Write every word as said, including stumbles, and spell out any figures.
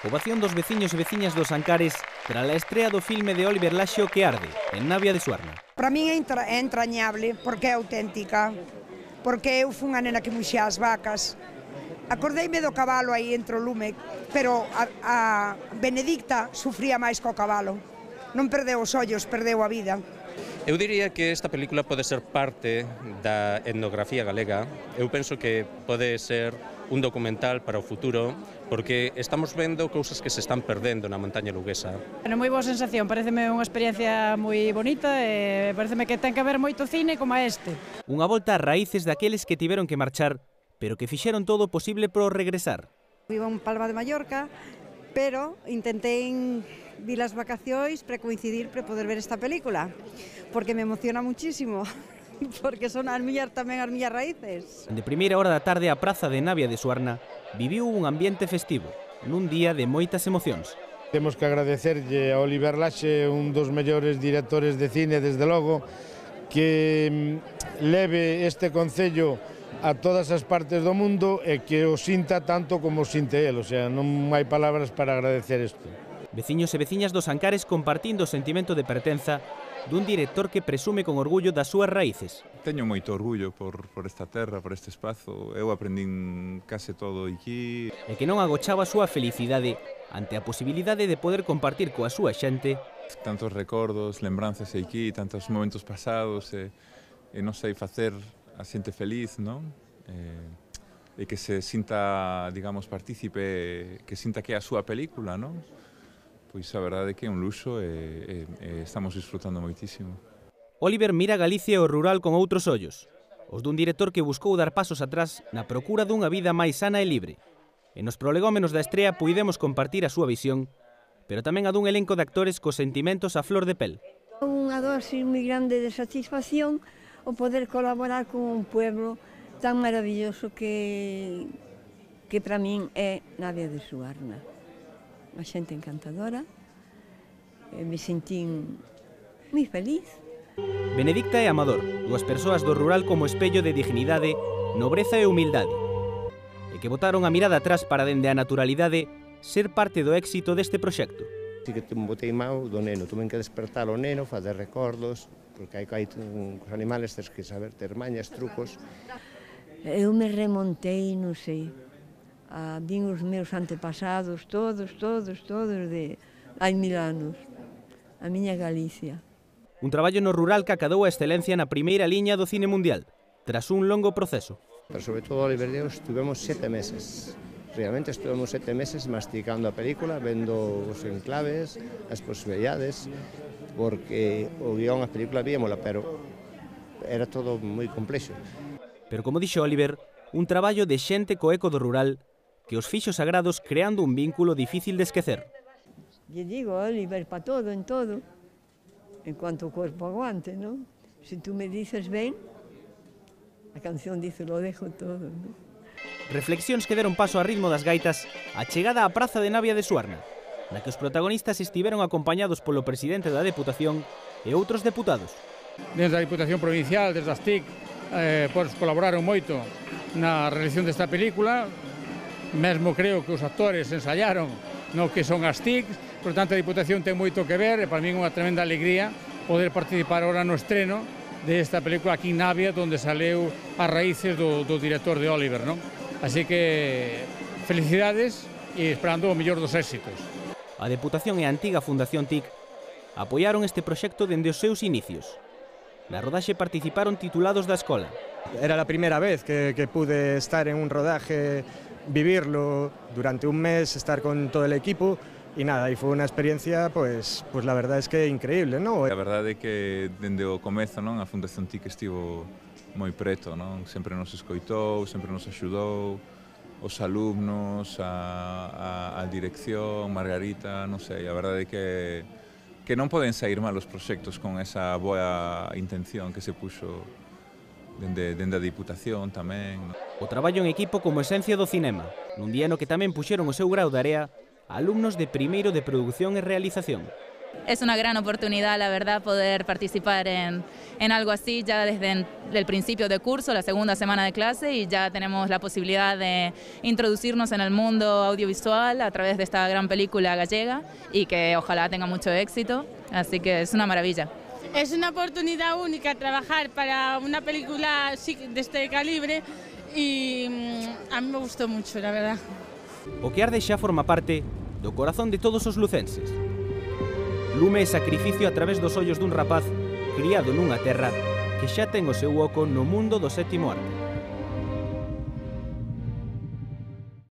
Ovación dos veciños e veciñas dos Ancares tras a estrea do filme de Óliver Laxe O que arde, en Navia de Suarna. Para min é, entra, é entrañable, porque é auténtica, porque eu fui unha nena que muxía as vacas. Acordeime do cabalo aí entre o lume, pero a, a Benedicta sufría máis co cabalo. Non perdeu os ollos, perdeu a vida. Eu diría que esta película pode ser parte da etnografía galega. Eu penso que pode ser un documental para o futuro, porque estamos vendo cousas que se están perdendo na montaña luguesa. Bueno, moi boa sensación, pareceme unha experiencia moi bonita e pareceme que ten que haber moito cine como este. Unha volta ás raíces daqueles que tiveron que marchar, pero que fixeron todo o posible por regresar. Vivo en Palma de Mallorca, pero intentei vir as vacacións para coincidir para poder ver esta película, porque me emociona muchísimo, porque son as miñas tamén as miñas raíces. De primeira hora da tarde a praza de Navia de Suarna viviu un ambiente festivo, nun día de moitas emocións. Temos que agradecerlle a Óliver Laxe, un dos mellores directores de cine, desde logo, que leve este concello a todas as partes do mundo e que o sinta tanto como o sinte el, o sea, non hai palabras para agradecer isto. Veciños e veciñas dos Ancares compartindo o sentimento de pertenza dun director que presume con orgullo das súas raíces. Teño moito orgullo por, por esta terra, por este espazo. Eu aprendín case todo aquí. E que non agochaba a súa felicidade ante a posibilidade de poder compartir coa súa xente tantos recordos, lembranzas aquí, tantos momentos pasados, e, e non sei, facer a xente feliz, non? E, e que se sinta, digamos, partícipe, que sinta que é a súa película, non? Pois a verdade é que é un luxo e, e, e estamos disfrutando moitísimo. Óliver mira Galicia e o rural con outros ollos, os dun director que buscou dar pasos atrás na procura dunha vida máis sana e libre. E nos prolegómenos da estrea puidemos compartir a súa visión, pero tamén a dun elenco de actores cos sentimentos a flor de pel. Unha dosis moi grande de satisfacción o poder colaborar con un pueblo tan maravilloso que, que para min é Navia de Suarna. Unha xente encantadora, e me sentín moi feliz. Benedicta e Amador, dúas persoas do rural como espello de dignidade, nobreza e humildade, e que botaron a mirada atrás para dende a naturalidade ser parte do éxito deste proxecto. Si que te botei mau do neno, tuve que despertar o neno, fazer recordos, porque hai, hai os animales tens que saber ter mañas, trucos. Eu me remontei, non sei, a vin os meus antepasados, todos, todos, todos de hai mil anos, a miña Galicia. Un traballo no rural que acadou a excelencia na primeira liña do cine mundial, tras un longo proceso. Pero sobre todo, Óliver e eu estuvemos sete meses. Realmente estuvemos sete meses masticando a película, vendo os enclaves, as posibilidades, porque o guión, a película víamola, pero era todo moi complexo. Pero como dixo Óliver, un traballo de xente co eco do rural que os fixo sagrados creando un vínculo difícil de esquecer. Lle digo, Óliver, para todo, en todo, en cuanto o corpo aguante, non? Se tú me dices ben, a canción dice, lo dejo todo, non? Reflexións que deron paso a ritmo das gaitas a chegada á praza de Navia de Suarna, na que os protagonistas estiveron acompañados polo presidente da Deputación e outros deputados. Desde a Diputación Provincial, desde as T I C, eh, pois colaboraron moito na realización desta película, mesmo creo que os actores ensayaron no que son as T I C, por tanto a Diputación ten moito que ver e para mí é unha tremenda alegría poder participar ahora no estreno desta película aquí en Navia, onde saleu as raíces do, do director de Óliver, non? Así que felicidades e esperando o mellor dos éxitos. A Deputación e a antiga Fundación T I C apoiaron este proxecto dende os seus inicios. Na rodaxe participaron titulados da escola. Era a primeira vez que, que pude estar en un rodaje, vivirlo durante un mes, estar con todo el equipo. E nada, e foi unha experiencia, pois, pois la verdade é que é increíble, non? A verdade é que dende o comezo, non, a Fundación T I C estivo moi preto, non? Sempre nos escoitou, sempre nos axudou, os alumnos, a, a, a dirección, Margarita, non sei, a verdade é que que non poden sair mal os proxectos con esa boa intención que se puxo dende, dende a Diputación tamén. O traballo en equipo como esencia do cinema, nun día no que tamén puxeron o seu grau de area alumnos de primeiro de produción e realización. Es una gran oportunidad, la verdad, poder participar en, en algo así ya desde el principio de curso, la segunda semana de clase, y ya tenemos la posibilidad de introducirnos en el mundo audiovisual a través de esta gran película gallega y que ojalá tenga mucho éxito, así que es una maravilla. Es una oportunidad única trabajar para una película de este calibre y a mí me gustó mucho, la verdad. O que arde xa forma parte do corazón de todos os lucenses. Lume é sacrificio a través dos ollos dun rapaz criado nunha terra que xa ten o seu oco no mundo do sétimo arte.